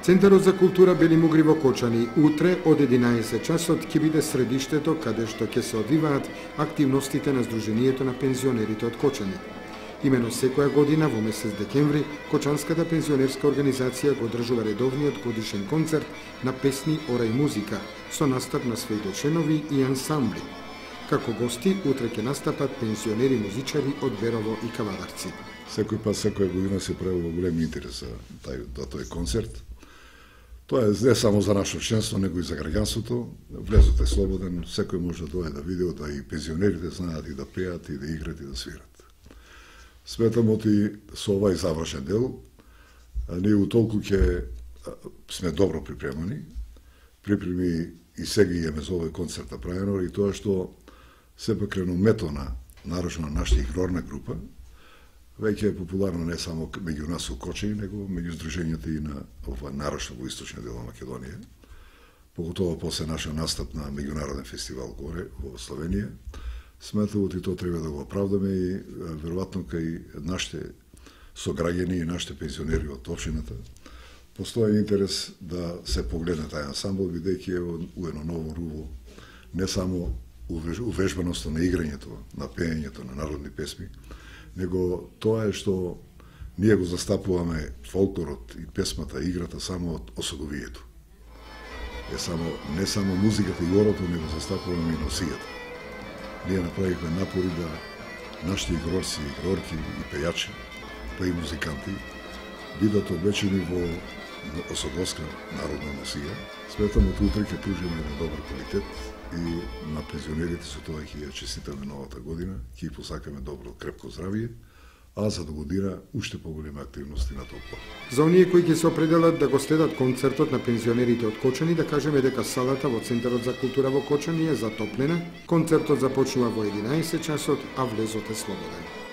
Центарот за култура Бели Мугри во Кочани утре од 11 часот ќе биде средиштето каде што ќе се одвиваат активностите на Сдруженијето на пензионерите од Кочани. Имено секоја година во месец декември Кочанската пензионерска организација го одржува редовниот годишен концерт на песни, ора и музика со настап на своите членови и ансамбли. Како гости утре ќе настапат пензионери музичари од Берово и Кавадарци. Секој пат, секоја година се прави во голем интерес за тој концерт. Тоа е не само за нашето членство, него и за граѓанството. Влезот е слободен, секој може да дојде да види, да и пензионерите знаат и да пеат, и да играат, и да свират. Сметам оти со овај завршен дел, ние утолку ќе сме добро припремани. Припреми и сега имаме за овој концерт направено, и тоа што сепак реномето на нарочно нашата игрорна група веќе е популарно не само меѓу нас у Кочани, него меѓу здруженијата и на нарочно во источниот дел на Македонија. Поготово после нашиот настап на меѓународен фестивал горе во Словенија. Сметам и тоа треба да го оправдаме и веројатно кај нашите сограѓани и нашите пензионери од општината постои интерес да се погледне тај ансамбл, бидејќи е у едно ново руво не само увежбаноста на играњето, на пеењето на народни песми, него тоа е што ние го застапуваме фолклорот и песмата, играта само од осудовието. Не само музиката и орото, него застапуваме и носијата. Ние направивме напори да нашите игрорци, игрорки и пејачи, па и музиканти, бидат облечени во осудовска народна носија. Сметам од утре ќе пружиме на добар квалитет и на пензионерите со тоа ќе ја честитаме новата година, ќе ја посакаме добро, крепко здравие, а за догодина уште поголеми активности на толку. За оние кои ќе се определат да го следат концертот на пензионерите од Кочани, да кажеме дека салата во Центарот за култура во Кочани е затоплена. Концертот започнува во 11 часот, а влезот е слободен.